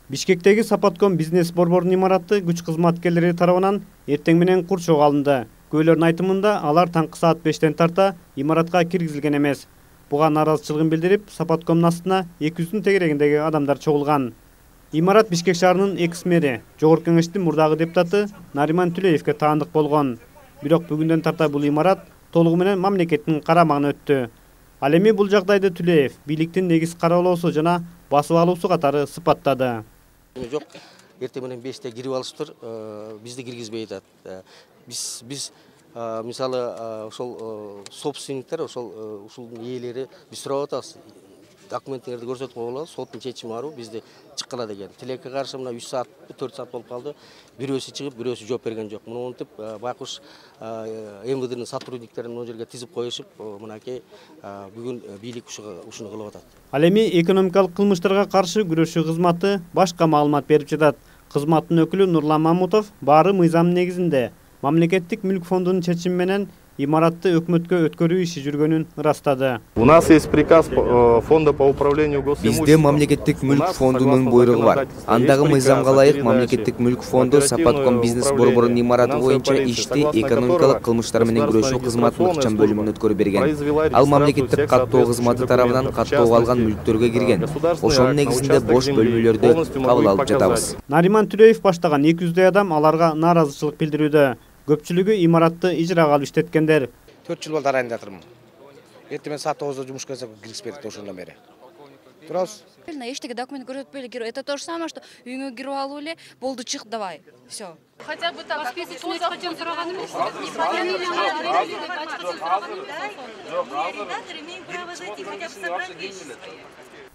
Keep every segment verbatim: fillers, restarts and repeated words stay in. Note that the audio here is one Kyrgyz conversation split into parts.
Бишкектеги Сапатком бизнес борборунун имараты күч кызматкерлери тарабынан эртең менен курчоого алынды. Көйлөрдүн айтымында алар таңкы саат бештен тарта имаратка киргизилген эмес. Буга нааразычылыгын билдирип, Сапаткомдун астына эки жүздүн тегерегиндеги адамдар чогулган. Имарат Бишкек шаарынын экс-мэри, Жогорку Кеңештин мурдагы депутаты Нариман Түлеевге таандык болгон. Бирок бүгүндөн тарта бул имарат толугу менен мамлекеттин карамагына өттү. Ал эми бул жагдайды Түлеев бийликтин негиз кароолоосу жана басып алуусу катары сыпаттады. Жок, эртең менен беште кирип алыштыр, бизди киргизбей атат. Биз биз мисалы ошол собственниктер, ошол ушулдун ээлери биз сурап атабыз. Документтерди көрсөтүп коелу, соттун чечими барбы, бизди чыккыла деген. Тилекке каршы мына үч саат, төрт саат болуп калды. Бирөөсү чыгып, бирөөсү жооп берген жок. Муну монтип байкуш эм вэ дэнин сотрудниктерин могу жерге тизип коюшуп, мынакей бүгүн бийлик ушуну кылып атат. Ал эми экономикалык кылмыштарга каршы күрөшүү кызматы башка маалымат берип жатат. Кызматтын өкүлү Нурлан Мамутов баары мыйзам негизинде мамлекеттик мүлк фондунун чечими менен имаратты өкмөткө өткөрүү иши жүргөнүн ырастады. У нас есть приказ фонда по управлению госимуществом. Бизде мамлекеттик мүлк фондунун буйругу бар. Андагы мыйзамга ылайык мамлекеттик мүлк фонду Сапатком бизнес борборунун имараты боюнча ишти экономикалык кылмыштар менен күрөшүү кызматынын ыкчам бөлүмүнө өткөрүп берген. Ал мамлекеттик каттоо кызматы тарабынан каттоого алган мүлктөргө кирген. Ошонун негизинде бош бөлмөлөрдү кабыл алып жатабыз. Нариман Түлеев баштаган эки жүздөй адам аларга нааразычылык билдирүүдө. Көпчүлүгү имаратты ижрага алып иштеткендер. төрт жыл болду арайында жатырмын. Эртең менен саат тогузда жумуш келсе киргизбедик ошондон бери. Турабыз. Эчтеге документ көрсөтпөй эле, это то же самое, что үйүңө кирип алып эле, болду чык давай. Всё. Хотя бы там списочный хотим сураган эмес.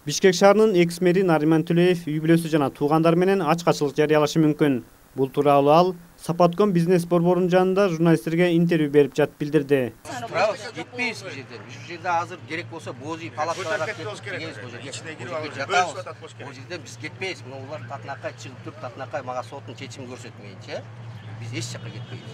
Бишкек шаарынын экс-мэри Нариман Түлеев үй бүлөсү жана туугандар менен ачкачылык жарыялашы мүмкүн. Бул тууралуу ал Сапатком бизнес борборунун жанында журналисттерге интервью берип жатып билдирди. Кетпейбиз бул жерден. Бул жерде азыр керек болсо бози палаткалар кетпейбиз бул жерде. Жатабыз. Бул жерден биз кетпейбиз. Мына улар татынакай чыгып туруп, татынакай мага соттун чечимин көрсөтмөйүнчө биз эч жакка кетпейбиз.